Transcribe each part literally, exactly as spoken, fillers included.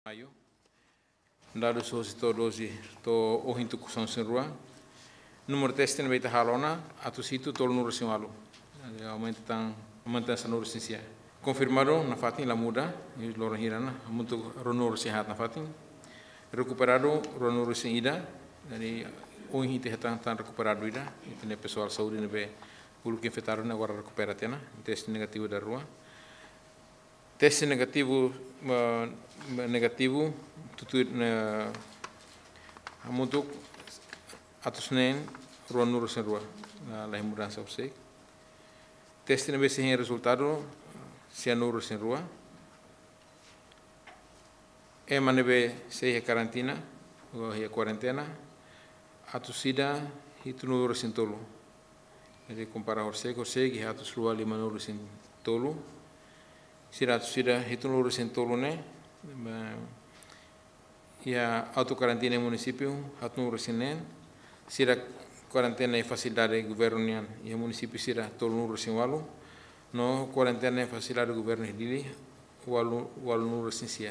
Maiu. Dadus hosi to'o doze, to'o ohin tuku sanulu-resin-rua. Númeru teste ne'ebé ita halo ona, atus hitu tolunulu-resin-ualu. Jadi, aumenta tan, aumenta sanulu-resin-sia. Konfirmadu nafatin la muda, i loron hira ona, hamutuk ruanulu-resin-haat nafatin. Rekuperadu ruanulu-resin-ida, jadi, ohin ita hetan tan rekuperadu ida, ita-nia pesoál saúde ne'ebé uluk infetadu ne'e agora rekupera tiha ona, teste negativu dalarua. Teste negativu, eh, negativu, tutuir, eh, hamutuk atus neen ruanulu-resin-rua, la, la iha mudansa horiseik. Teste ne'ebé sei hein rezultadu, sianulu-resin-rua. Ema ne'ebé sei iha karantina, ou iha kuarentena, atus ida hitunulu-resin-tolu. Jadi, kompara horiseik, horiseik iha atus rua limanulu-resin-tolu. Sira atus ida hitunulu-resin-tolu ne'e, eh, iha autokarantina iha munisípiu, haatnulu-resin-neen. Sira kuarentena iha fasilidade governu nian, iha munisípiu sira tolunulu-resin-ualu. No kuarentena iha fasilidade governu iha Dili, ualu, ualunulu-resin-sia.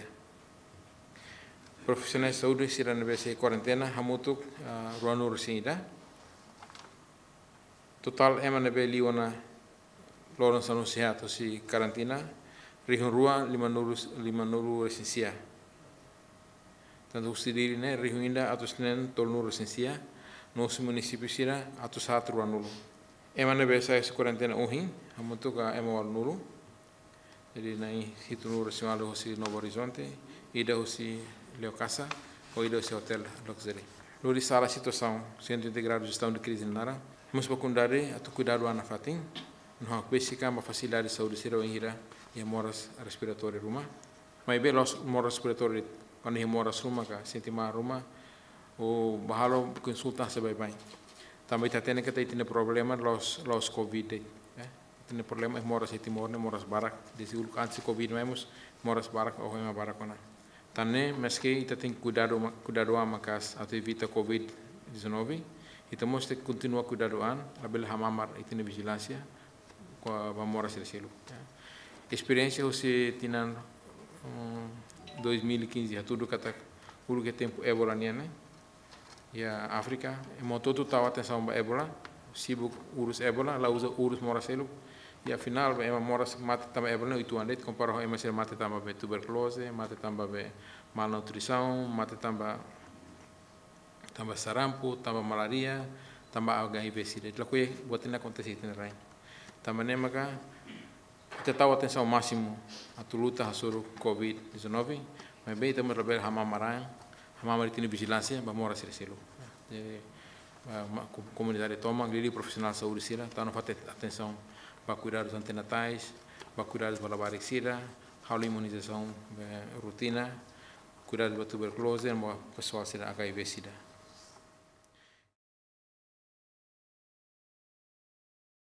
Profisionál saúde sira ne'ebé sei kuarentena, hamutuk, ah, ruanulu-resin-ida. Totál ema ne'ebé liu ona loron sanulu-resin-haat hosi karantina, rihun rua limanulu, limanulu-resin-sia. Tantu husi Dili ne'e, rihun ida atus neen tolunulu-resin-sia, no husi munisípiu sira atus haat ruanulu. Ema ne'ebé sai husi kuarentena ohin, hamutuk ema ualunulu. Jadi, na'in hitunulu-resin-ualu hosi Novo Horizonte, ida hosi Leokasa, ho ida hosi Hotel Luxury. Lori sala situasaun Sentru Integradu Jestaun de Krize nia naran, mós ba komunidade atu kuidadu an nafatin, no hakbesik an ba fasilidade saúde sira wainhira iha moras respiratóriu ruma. Maibé la'ós moras respiratóriu de'it, kuandu iha moras ruma ka sente malu ruma, ou bá halo konsulta sei baibain. Tanba ita hatene katak ita-nia problema la'ós, la'ós covid de'it, eh. Ita-nia problema iha moras iha Timor ne'e moras barak. Dezde uluk antes covid mai mós moras barak, oho ema barak ona. Tan ne'e, maske ita tenke kuidadu ma-, kuidadu an maka'as atu evita covid dezanove, ita mós tenke kontinua kuidadu an, labele hamamar ita-nia vijilánsia, kona-ba moras sira seluk. Esperiénsia husi tinan, mm, dois mil e quinze, hatudu katak uluk iha tempu Ebola nian ne'e, iha Áfrika, ema hotu-hotu tau atensaun ba Ebola, sibuk urus Ebola, la uza urus moras seluk. I afinál, ba ema moras mate tanba Ebola ne'e uitoan de'it, kompara ho ema sira mate tanba be tuberkuloze, mate tanba be malnutrisaun, mate tanba, tanba sarampu, tanba malária, tanba H I V sida. Ita lakohi buat ne'e akontese iha ita-nia rain. Tanba ne'e maka, ita tau atensaun másimu atu luta hasoru covid dezanove, maibé ita mós labele hamamar an, hamamar ita-nia vijilánsia ba moras sira seluk. Jadi, eh, ma-, ko-, komunidade tomak, liuliu profisionál saúde sira, tau nafatin atensaun ba kuidadus antinatais, ba kuidadus ba labarik sira, halo imunizasaun, eh, rotina, kuidadus ba tuberkuloze, no ba pesoál sira H I V sida.